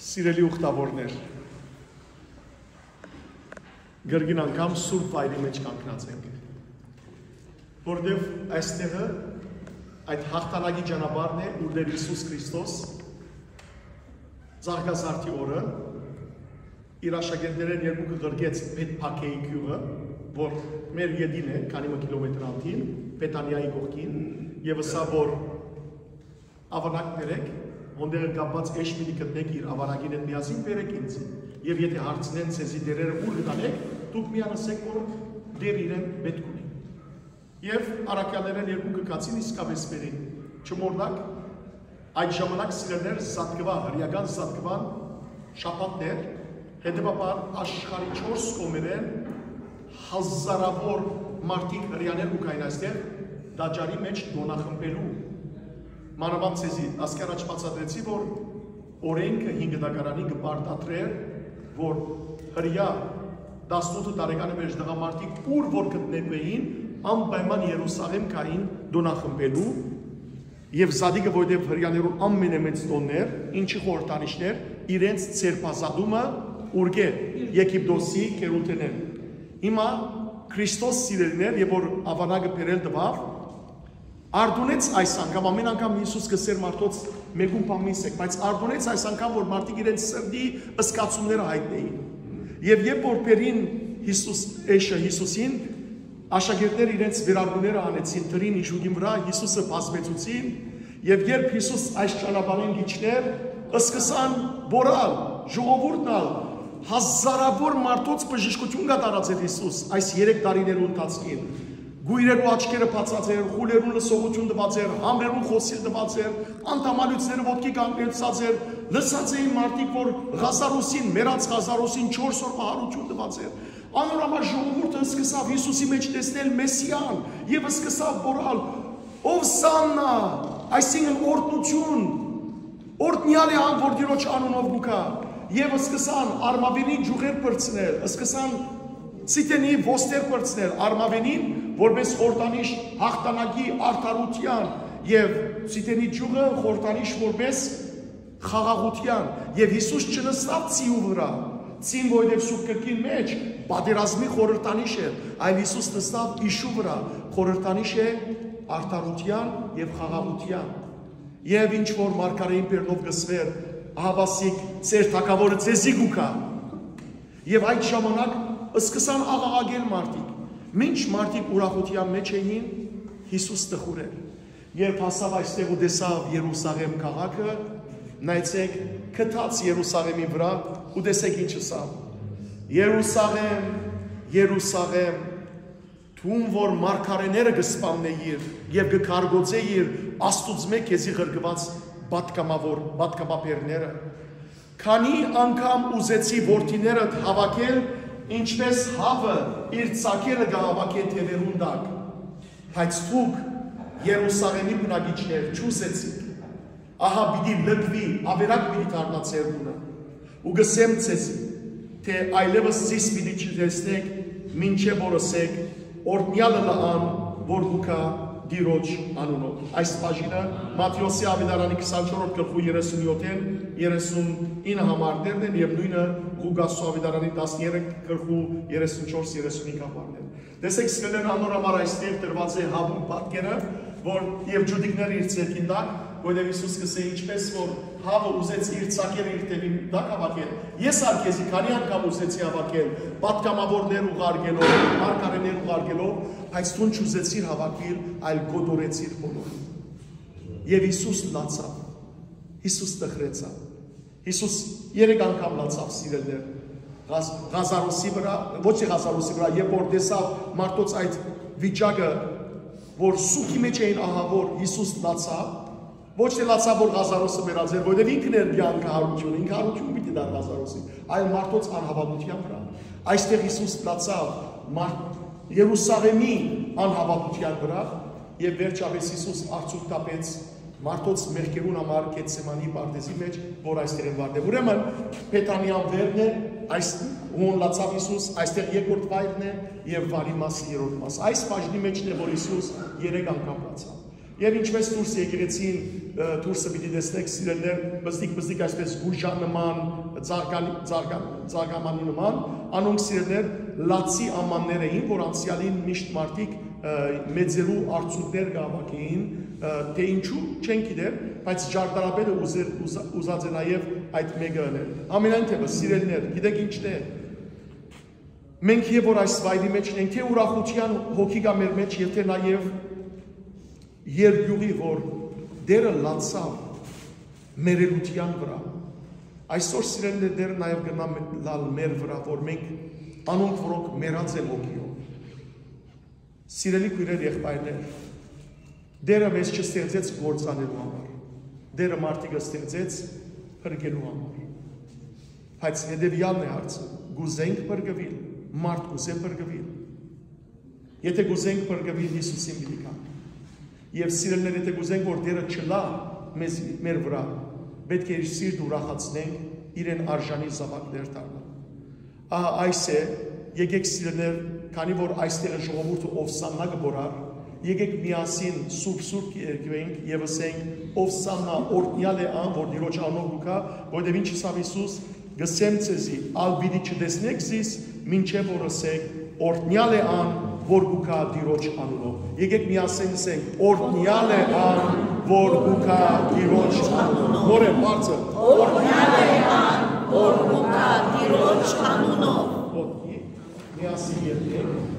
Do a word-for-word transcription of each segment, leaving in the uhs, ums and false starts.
Սիրելի ուխտավորներ, կրկին անգամ սուրբ վայրի մէջ կանգնած ենք, որտեւ այստեղը այդ հաղթանակի ճանապարհն է, ուր Տէր Յիսուս Քրիստոս Ծաղկազարդի օրը իր աշակերտներէն երկուքը ղրկեց Բեթփագեի գիւղը, որ մեր ետին է, քանի մը կիլոմետր անդին, Բեթանիայի կողքին, եւ ըսաւ, որ Աւանակ բերէք, հոն տեղը կապուած էշ պիտի գտնէք իր աւանակին հետ միասին, բերէք ինծի։ Եւ եթէ հարցնեն ձեզի, դերերը ո՞ւր կը տանէք, դուք միայն ըսէք, որ Տէր իրեն պէտք ունի։ Եւ առաքեալներէն երկուքը գացին, իսկապէս բերին։ Չմոռնաք, այդ ժամանակ, սիրելիներ, զատկուան, հրեական զատկուան շաբաթներ, հետեւաբար աշխարհի չորս կողմերէն հազարաւոր մարդիկ, հրեաներ կու գային այստեղ տաճարի մէջ տօնախմբելու։ Մանաւանդ ձեզի ասկէ առաջ բացատրեցի, որ օրէնքը հին կտակարանի կը պարտադրէր, որ հրեայ տասնութ տարեկան մէջ տղամարդիկ, ուր որ գտնուէին, անպայման Երուսաղէմ գային տօնախմբելու, եւ զատիկը, որովհետեւ հրեաներուն ամենամեծ տօնն էր, ինչի խորհրդանիշն էր, իրենց ձերբազատումը ուրկէ, Եգիպտոսի գերութենէն։ Հիմա Քրիստոս, սիրելիներ, եւ որ աւանակը բերել տուաւ, արտոնեց այս անգամ, ամեն անգամ Յիսուս կ'ըսէր մարդոց, մէկուն բան մի ըսէք, բայց արտոնեց այս անգամ, որ մարդիկ իրենց սրտի զգացումները յայտնէին։ Եւ երբ որ բերին Յիսուս, էշը Յիսուսին, աշակերտները իրենց վերարկուները հանեցին, դրին իժուկին վրայ, Յիսուսը բազմեցուցին, եւ երբ Յիսուս այս ճանապարհին կ'իջնէր, սկսան բոռալ, ժողովուրդն ալ, հազարաւոր մարդոց բժշկութիւն կատարած էր Յիսուս այս երեք տարիներու ընթացքին։ Կոյրերու աչքերը բացած էր, խուլերուն լսողութիւն տուած էր, համրերուն խօսիլ տուած էր, անդամալիւցները ոտքի կանգնեցած էր, լսած էին մարդիկ, որ Ղազարոսին, մեռած Ղազարոսին չորս օրվա յարութիւն տուած էր։ Անոր համար ժողովուրդը սկսաւ Յիսուսի մէջ տեսնել Մեսիան եւ սկսաւ բոռալ. «Ովսաննա», այսինքն՝ «Օրհնութիւն, օրհնեալ է ան, որ Տիրոջ անունով կու գայ»։ Եւ սկսան արմաւենի ճիւղեր պրծնել, սկսան Սիդենի ոստեր պրծնել արմաւենին, որպես խորհրդանիշ հաղթանակի, արդարութեան, եւ Սիդենի ճիւղը խորհրդանիշ որպես խաղաղութեան։ Եւ Յիսուս չնստաւ ձիու վրայ, ձին, որովհետեւ Սուրբ Գրքին մէջ պատերազմի խորհրդանիշ էր, այլ Յիսուս նստաւ իշու վրայ, խորհրդանիշ է արդարութեան եւ խաղաղութեան։ Եւ ինչ որ մարգարէին բերնով կ'ըսուէր. «Ահա սիկ ձեր թագաւորը ձեզի կու գայ»։ Եւ այդ ժամանակ սկսան աղաղակել մարդիկ։ Մինչ մարդիկ ուրախութեան մէջ էին, Յիսուս տխուր էր։ Երբ հասաւ այստեղ ու տեսաւ Երուսաղէմ քաղաքը, նայեցէք, գթած Երուսաղէմի վրայ, ու տեսէք ինչ ըսաւ. «Երուսաղէմ, Երուսաղէմ, դուն որ մարգարէները կը սպաննէիր եւ կը քարկոծէիր Աստուծմէ քեզի ղրկուած պատգամաւոր, պատգամաբերները, քանի՞ անգամ ուզեցի որդիներդ հաւաքել, ինչպես հաւը իր ծագերը կը հաւաքէ թեւերուն տակ, բայց դուք, Երուսաղէմի բնակիչներ, չուզեցիք։ Ահա պիտի լքուի, աւերակ պիտի դառնայ ձեր տունը։ Ու կ'ըսեմ ձեզի, թէ այլեւս զիս պիտի չտեսնէք, մինչեւ որ ըսէք. "Օրհնեալ ըլլայ ան, որ կու գայ Տիրոջ անունով"»։ Այս բաժինը Մատթէոսի աւետարանի քսանչորսերորդ գլխու երեսունյոթ, երեսունինը համարներն են, եւ նոյնը Ղուկասու աւետարանի տասներեք գլխու երեսունչորս, երեսունհինգ համարներ։ Տեսեք, սիրելիներ, անոր համար այստեղ դրուած է հաւու պատկերը, որ եւ ջուտիկները իր ձեռքին տակ, որովհետեւ Յիսուս կ'ըսէ. "Ինչպես որ հաւը ուզեց իր ծագերը իր թեւին տակ հաւաքել, ես ալ քեզի քանի՞ անգամ ուզեցի հաւաքել, պատգամաւորներ ուղարկելով, մարգարէներ ուղարկելով, բայց դուն չուզեցիր հաւաքիլ, այլ կոտորեցիր բոլորը"։ Եւ Յիսուս լացաւ, Յիսուս տխրեցաւ։ Յիսուս երեք անգամ լացաւ, սիրելիներ, Ղազ-, Ղազարոսի վրայ, ոչ թե Ղազարոսի վրայ, երբ որ տեսաւ մարդոց այդ վիճակը, որ սուգի մէջ էին, ահա որ Յիսուս լացաւ, ոչ թե լացաւ, որ Ղազարոսը մեռած էր, որովհետեւ ինքն էր կեանքը, յարութիւնը, ինքը յարութիւն պիտի տար Ղազարոսին, այլ մարդոց անհաւատութեան վրայ։ Այստեղ Յիսուս լացաւ մարդ-, Երուսաղէմի անհաւատութեան վրայ, եւ վերջապէս Յիսուս արցունք տապեց մարդոց մեղքերուն համար Գեթսեմանի պարտէզի մէջ, որ այստեղ են վարդը։ Ուրեմն, Բեթանիան վերն է, այս հոն լացաւ Յիսուս, այստեղ երկրորդ վայրն է, եւ վարի մասը երրորդ մասը։ Այս բաժնի մէջն է, որ Յիսուս երեք անգամ լացաւ։ Եւ ինչպես դուրս եկեղեցին, ը, դուրսը պիտի տեսնեք, սիրելիներ, բզդիկ-բզդիկ այսպես գուժան նման, ձաղկանի-, ձաղկան-, ձաղկամանի նման, անոնք, սիրելիներ, լացի ամաններ էին, որ անցեալին միշտ մարդիկ, ը, մեծերու արցունքներ կ'հաւաքէին, ը, թէ ինչու, չեն գիտեր, բայց ճարտարապետը ուզեր, ուզա-, ուզած է նաեւ այդ մէկը ընել։ Ամենայն դեպս, սիրելիներ, գիտեք ինչն է, մենք եւ որ այս վայրի մեջ ենք, թէ ուրախութեան հոգի կայ մեր մեջ, եւ թէ նաեւ երկիւղի, որ Տէրը լացաւ մեռելութեան վրայ, այսօր, սիրելիներ, Տէրը նաեւ կրնայ լալ մեր վրայ, որ մենք անոնք, որոնք մեռած են հոգիով։ Սիրելի քոյրեր, եղբայրներ, Տէրը մեզ չստեղծեց կործանելու համար։ Տէրը մարդիկը ստեղծեց փրկելու համար։ Բայց հետեւեալն է հարցը. կ'ուզենք փրկուիլ, մարդ կ'ուզէ փրկուիլ։ Եթե կ'ուզենք փրկուիլ, Յիսուսին պիտի գանք։ Եւ, սիրելիներ, եթե կ'ուզենք, որ Տէրը չլայ մեզ, մեր վրայ, պէտք է իր սիրտը ուրախացնենք, իրեն արժանի զաւակներ դառնալ։ Ահա այս է, եկեք, սիրելիներ, քանի որ այստեղ է ժողովուրդը ովսաննա կը բորար, եկեք միասին սուրբ-սուրբ կ'երգենք եւ ըսենք. «Ովսաննա, օրհնեալ է ան, որ Տիրոջ անունով կու գայ», որովհետեւ ինչ ըսաւ Յիսուս. «Կ'ըսեմ ձեզի, ալ պիտի չտեսնէք զիս, մինչեւ որ ըսէք. "Օրհնեալ է ան, որ կու գայ Տիրոջ անունով"»։ Եկեք միասին ըսենք. «Օրհնեալ է ան, որ կու գայ Տիրոջ անունով»։ Նորէն, բարձր. «Օրհնեալ է ան, որ կու գայ Տիրոջ անունով»։ Ոտքի, միասին երգենք.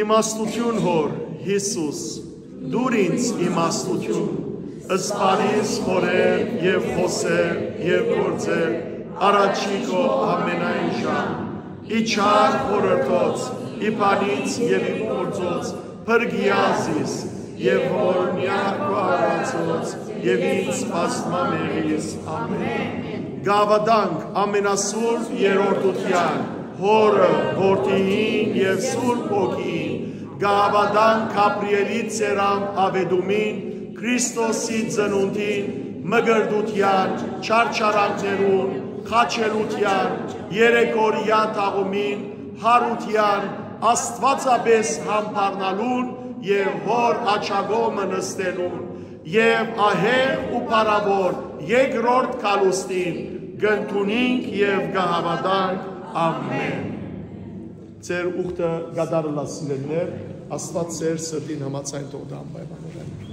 Իմաստութիւն, Հօր, Յիսուս, տուր ինձ իմաստութիւն, սպանիս խորհել եւ խօսել եւ գործել առաջի քո ամենայն ժամ, ի չար խորհրդոց, ի բանից եւ ի գործոց, փրկիա զիս, եւ որ միակ քո արարածոց եւ ինձ բազմամեղիս։ Ամեն։ Կ'աւատանք ամենասուրբ երրորդութեան, Հօրը, Որդիին եւ Սուրբ Հոգիին, կ'աւատանք Գաբրիէլի ծերան աւետումին, Քրիստոսի ծնունդին, մկրտութեան, չարչարանքներուն, խաչելութեան, երեք օրեայ թաղումին, յարութեան, աստուածապէս յամբարնալուն եւ Հօր աջակողմը նստելուն, եւ ահեղ ու փառաւոր երկրորդ գալուստին կ'ընդունինք եւ կ'աւատանք։ Ամեն։ Ձեր ուխտը կատարելաց, սիրելիներ, Աստուած ձեր սրտին համաձայն թող տայ անպայման։